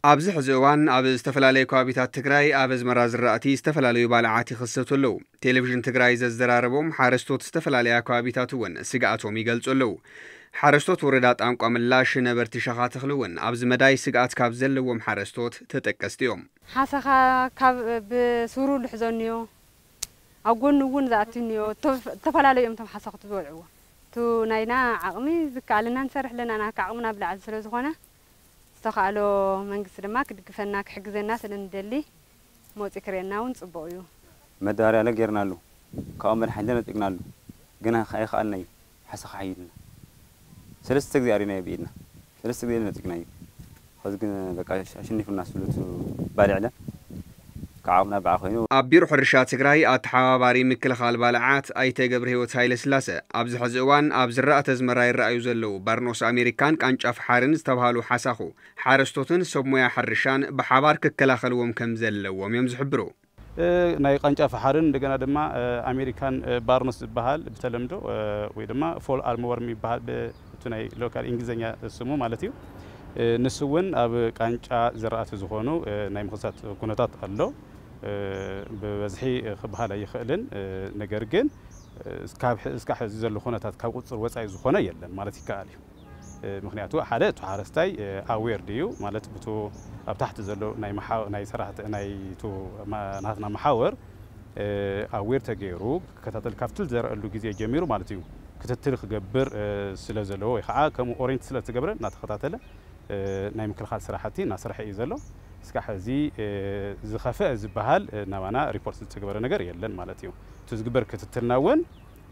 ኣብዚ ሕዚ እዋን ኣብ ዝተፈላለዩ ከባቢታት ትግራይ ኣብ ኣዝመራ ዝራእቲ ዝተፈላለዩ ባልዓት ይኽሰቱ ኣለዉ። ቴሌቪዥን ትግራይ ዘዘራረቦም ሓረስቶት ዝተፈላለያ ከባቢታት እውን ስግኣቶም ይገልጹ ኣለዉ። ሓረስቶት ወረዳ ጣንቋ ምላሽ ነበርቲ ሸኻ ተኽሊ እውን ኣብዚ መዳይ ስግኣት ካብ ዘለዎም ሓረስቶት ተጠቀስቲ እዮም። ሓሰኻ ካብ ብሱሩ ልሕዘኒዮ ኣብ ጎኑ እውን ዝኣትንዮ እተፈላለዩ እዮም እቶም ሓሰኽቲ ዝበልዕዎ። እቱ ናይና ዓቕሚ ዝከኣለና ንሰርሕ ኣለና፣ ናካ ዓቕምና ብላዕሊ ስለ ዝኾነ ዝተኻእሎ መንግስቲ ድማ ክድግፈና ክሕግዘና ስለ ንደሊ መፂ ክርእየና እውን ፅቡቕ እዩ። መዳበርያ ለ ጌርናሉ፣ ካብኦም መድሓኒት ነፂግናሉ፣ ግና ከ ኣይኸኣልናዩ። ሓሰኻ ሓይልና ሰለስተ ግዜ ኣሪናዮ ብኢድና፣ ሰለስተ ግዜ ነፂግናዩ። ኸዚ ግን በቃ ኣሸኒፉና ስሉት ባልዕለ ከዓቕምና በዓ ኮይኑ። ኣብ ቢሮ ሕርሻ ትግራይ ኣተሓባባሪ ምክልኻል ባልዓት ኣይተ ገብረ ህይወት ሃይለ ስላሰ ኣብዚ ሕዚ እዋን ኣብ ዝራእቲ ኣዝመራ ይረኣዩ ዘለዉ ባርኖስ ኣሜሪካን ቃንጫ ፈሓርን ዝተባሃሉ ሓሳኹ ሓረስቶትን ሰብ ሞያ ሕርሻን ብሓባር ክከላኸልዎም ከም ዘለዎም እዮም ዝሕብሩ። ናይ ቃንጫ ፈሓርን እንደገና ድማ ኣሜሪካን ባርኖስ ዝበሃል ብተለምዶ ወይ ድማ ፎል ኣርምወርም ይበሃል ብእቱ ናይ ሎካል እንግሊዝኛ ስሙ ማለት እዩ። ንሱ እውን ኣብ ቃንጫ ዝራእቲ ዝኾኑ ናይ ምኽሳት ኩነታት ኣሎ። ብበዝሒ ክበሃል ኣይኽእልን፣ ነገር ግን እስካብ ሕዚ ዘሎ ኩነታት ካብ ቁፅፅር ወፃኢ ዝኾነ የለን ማለት ይከኣል እዩ። ምክንያቱ ሓደ እቲ ሓረስታይ ኣዌር ድዩ ማለት ብቱ ኣብ ታሕቲ ዘሎ ናይ ሰራሕቲ ናይቱ ናትና መሓወር ኣዌር ተገይሩ ክከታተል ካብቲ ዝዘረአሉ ግዜ ጀሚሩ ማለት እዩ ክትትል ክገብር ስለ ዘለዎ ወይ ከዓ ከምኡ ኦሬንት ስለ ዝተገብረ እናተኸታተለ ናይ ምክልኻል ስራሕቲ እናሰርሐ እዩ ዘሎ። እስካዕ ሕዚ ዝኸፍአ ዝበሃል ናባና ሪፖርት ዝተገበረ ነገር የለን ማለት እዩ። እቲ ዝግበር ክትትልና እውን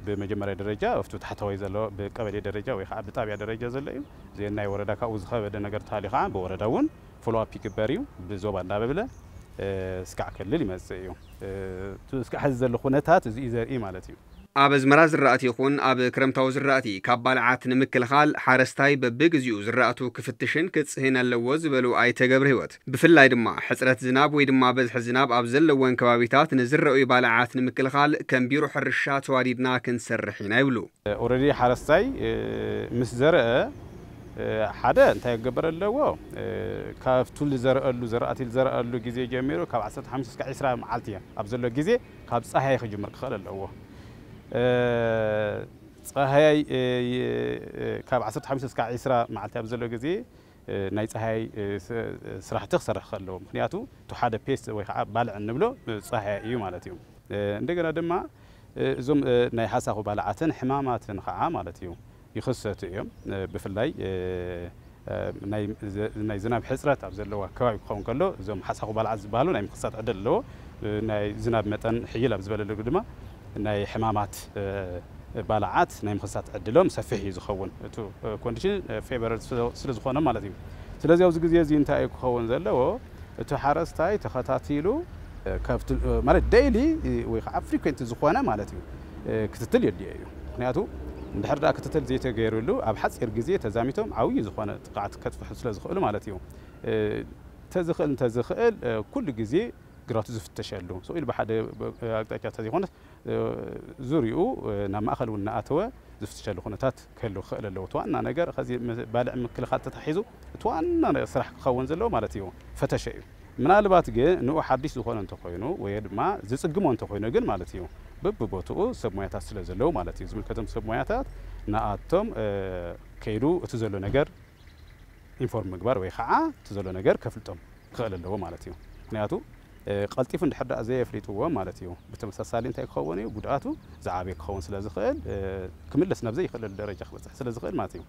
ብመጀመርያ ደረጃ ኣብቲ ታሕተዋይ ዘሎ ብቀበሌ ደረጃ ወይ ከዓ ብጣብያ ደረጃ ዘሎ እዩ። እዚ ናይ ወረዳ ካብኡ ዝኸበደ ነገር ተሃልዩ ከዓ ብወረዳ እውን ፎሎኣፕ ይግበር እዩ። ብዞባ እንዳበብለ እስካዕ ክልል ይመፅእ እዩ። እስካዕ ሕዚ ዘሎ ኩነታት እዚ እዩ ዘርኢ ማለት እዩ። ኣብ ኣዝመራ ዝራእቲ ይኹን ኣብ ክረምታዊ ዝራእቲ ካብ ባልዓት ንምክልኻል ሓረስታይ በብግዚኡ ዝራእቱ ክፍትሽን ክፅህን ኣለዎ ዝበሉ ኣይተ ገብረህይወት፣ ብፍላይ ድማ ሕፅረት ዝናብ ወይ ድማ በዝሒ ዝናብ ኣብ ዘለወን ከባቢታት ንዝረኣዩ ባልዓት ንምክልኻል ከም ቢሮ ሕርሻ ተዋዲድና ክንሰርሕ ኢና ይብሉ። ኦረዲ ሓረስታይ ምስ ዘርአ ሓደ እንታይ ክገበር ኣለዎ? ካብቱ ዝዘርአሉ ዝራእቲ ዝዘርአሉ ግዜ ጀሚሩ ካብ ዓሰርተ ሓሙሽተ እስካብ ዕስራ መዓልቲ ኣብ ዘሎ ግዜ ካብ ፀሃይ ክጅምር ክኽእል ኣለዎ። ፀሃይ ካብ ዓሰርተ ሓሙሽተ እስካብ ዕስራ መዓልቲ ኣብ ዘሎ ግዜ ናይ ፀሃይ ስራሕቲ ክሰርሕ ክኽእል ኣለዎ። ምክንያቱ እቲ ሓደ ፔስት ወይ ከዓ ባልዕ እንብሎ ፀሃይ እዩ ማለት እዩ። እንደገና ድማ እዞም ናይ ሓሳኹ ባልዓትን ሕማማትን ከዓ ማለት እዩ ይኽሰቱ እዮም። ብፍላይ ናይ ዝናብ ሕፅረት ኣብ ዘለዋ ከባቢ ክኸውን ከሎ እዞም ሓሳኹ ባልዓት ዝበሃሉ ናይ ምኽሳት ዕድል ኣለዎ። ናይ ዝናብ መጠን ሕይል ኣብ ዝበለሉ ድማ ናይ ሕማማት ባልዓት ናይ ምኽሳት ዕድሎም ሰፊሕ እዩ ዝኸውን፣ እቲ ኮንዲሽን ፌቨር ስለ ዝኾነ ማለት እዩ። ስለዚ ኣብዚ ግዜ እዚ እንታይ እዩ ክኸውን ዘለዎ? እቲ ሓረስታይ ተኸታቲሉ ማለት ደይሊ ወይ ከዓ ፍሪኩንት ዝኾነ ማለት እዩ ክትትል የድልዮ እዩ። ምክንያቱ እንድሕር ደኣ ክትትል ዘይተገይርሉ ኣብ ሓፂር ግዜ ተዛሚቶም ዓብዪ ዝኾነ ጥቕዓት ከጥፍሑ ስለ ዝኽእሉ ማለት እዩ። ተዝኽእል እንተዝኽእል ኩሉ ግዜ ግራቱ ዝፍተሸሉ ስቕ ኢሉ ብሓደ ኣቅጣጫ እንተዘይኮነስ ዙሪኡ ናብ ማእኸል እውን እናኣተወ ዝፍትሸሉ ኩነታት ክህሉ ክኽእል ኣለዎ። እቲ ዋና ነገር ኸዚ ባልዕ ምክልኻል ተታሒዙ እቲ ዋና ስራሕ ክኸውን ዘለዎ ማለት እዩ ፈተሸ እዩ። ምናልባት ግን ንኡ ሓድሽ ዝኾነ እንተኾይኑ ወይ ድማ ዝፅግሞ እንተኾይኑ ግን ማለት እዩ በብቦትኡ ሰብ ሞያታት ስለ ዘለዉ ማለት እዩ ዝምልከቶም ሰብ ሞያታት ንኣቶም ከይዱ እቲ ዘሎ ነገር ኢንፎርም ምግባር ወይ ከዓ እቲ ዘሎ ነገር ከፍልጦም ክኽእል ኣለዎ ማለት እዩ። ምክንያቱ ቀልጢፉ እንድሕር ደኣ ዘየፍሊጥዎ ማለት እዩ ብተመሳሳሊ እንታይ ክኸውን እዩ ጉድኣቱ ዝዓበየ ክኸውን ስለ ዝኽእል ክምለስ ናብ ዘይኽእለሉ ደረጃ ክበፅሕ ስለ ዝኽእል ማለት እዩ።